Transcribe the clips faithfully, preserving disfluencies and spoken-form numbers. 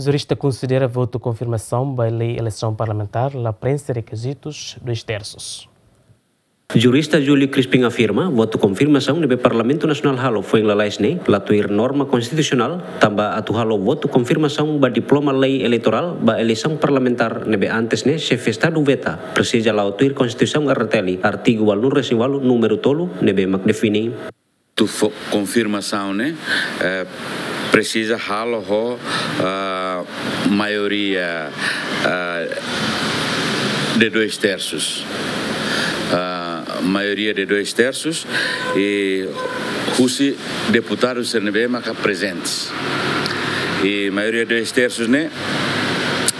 Jurista konsidera votu konfirmasaun ba lei eleisaun parlamentár la prenxe rekizitus dois terços. Jurista Júlio Crispim afirma, votu konfirmasaun ne'ebé Parlamentu Nasionál halo foin lalais ne'e la tuir norma konstitusionál, tanba atu halo votu konfirmasaun ba diploma lei eleitorál ba eleisaun parlamentár ne'ebé antes ne'e xefe Estadu veta, presiza la'o tuir Konstituisaun R T L, artigu ualunulu-resin-ualu, númeru tolu, ne'ebé mak define. Votu fo-, konfirmasaun ne'e, eh, presiza halo ho, ah, maioria, ah, de dois terços. Ah, maioria de dois terços i husi deputadu sira ne'ebé maka prezentes. I maioria dois terços ne'e,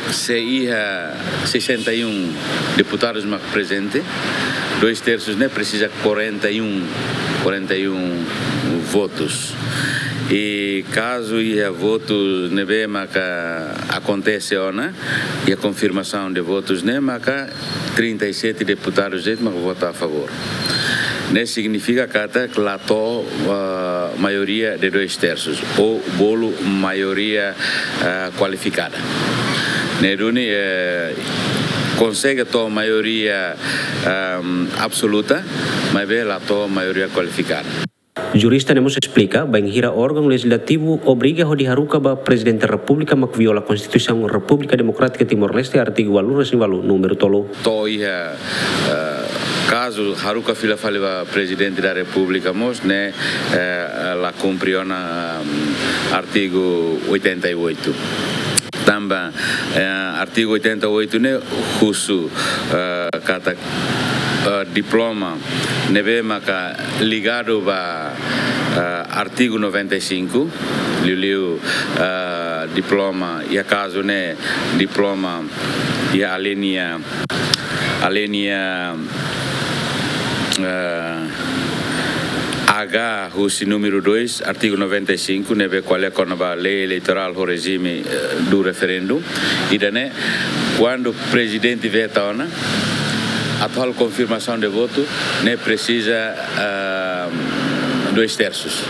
se iha sessenta e um deputadus mak prezente, dois terços ne'e presiza quarenta e um, quarenta e um votus. I kazu iha votu ne'ebé maka akontese ona, iha konfirmasaun de votus ne'e maka trinta e sete deputadus de'it maka vota a favór. Ne'e signifika katak la to'o, ah, maioria de dois terços, ou bolu maioria, ah, kualifikada. Ne'e duni, eh, konsege to'o maioria, ehm, absoluta, maibé la to'o maioria kualifikada. Jurista ne'e mós esplika, bainhira órgaun lejizlativu obriga hodi haruka ba Prezidente Repúblika mak viola Konstituisaun Repúblika Demokrátika Timor-Leste, artigu ualunulu-resin-ualu, númeru tolu. To'o iha, eh, kazu haruka fila fali ba Prezidente da Repúblika mós ne'e, eh, la kumpre ona, ehm, artigu oitenta e oito. Tanba, eh, artigu oitenta e oito ne'e husu, eh, katak, eh, diploma ne'ebé maka ligadu ba, eh, artigu noventa e cinco, liuliu, eh, diploma, iha kazu ne'e diploma iha alínea, alínea, eh, H husi númeru dois, artigu noventa e cinco, ne'ebé ko'alia kona-ba lei eleitorál ho rejime, eh, do referendu. Ida-ne'e, kuandu Prezidente veta ona, atu halo konfirmasaun de votu, ne'e presiza, ah, dois terços.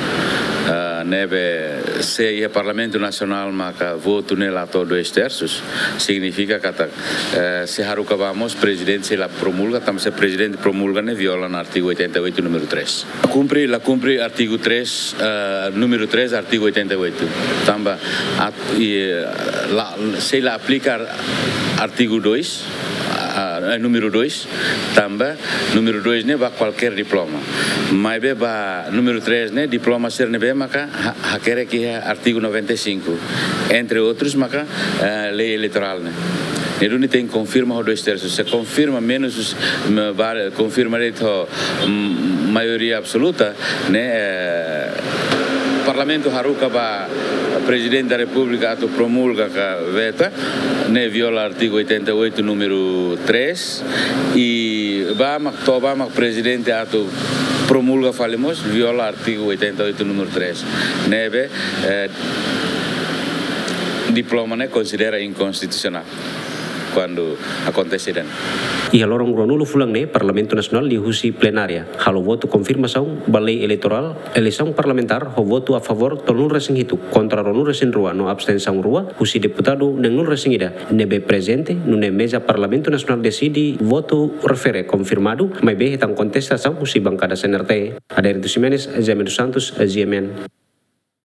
Ah, ne'ebé se iha Parlamentu Nasionál maka votu ne'e la to'o dois terços, signifika katak, eh, se haruka ba mós Prezidente sei la promulga, tanba se Prezidente promulga ne'e viola ona artigu oitenta e oito, númeru três. Kumpre, la kumpre artigu três, eh, númeru três, artigu oitenta e oito. Tanba at-, i, eh, la, sei la aplika ar-, artigu dois, ah, eh, númeru dois, tanba númeru dois ne'e ba kualkér diploma. Maibé ba númeru três ne'e diploma sira ne'ebé maka ha-, hakerek iha artigu noventa e cinco. Entre outros maka, eh, lei eleitorál ne'e. Ne'e duni tenke konfirma ho dois terços. Se konfirma menus, me-, ba-, konfirma de'it ho, mm, maioria absoluta, ne'e, eh, Parlamentu haruka ba Prezidente da Repúblika atu promulga ka veta, ne'e viola artigu oitenta e oito, númeru três, i ba mak, to'o ba mak Prezidente atu promulga fali mós, viola artigu oitenta e oito, númeru três. Ne'ebé, eh, diploma ne'e konsidera inkonstitusionál kuandu akontese ida-ne'e. Iha loron ruanulu fulan ne'e, Parlamentu Nasionál liuhusi plenária halo votu konfirmasaun ba lei eleitorál, eleisaun parlamentár, ho votu a favór tolunulu-resin-hitu, kontra ruanulu-resin-rua no abstensaun rua, husi deputadu neenulu-resin-ida ne'ebé prezente, nune'e meza Parlamentu Nasionál deside votu refere konfirmadu, maibé hetan kontestasaun husi bankada C N R T. Adérito Ximenes, Jaime dos Santos, G M N.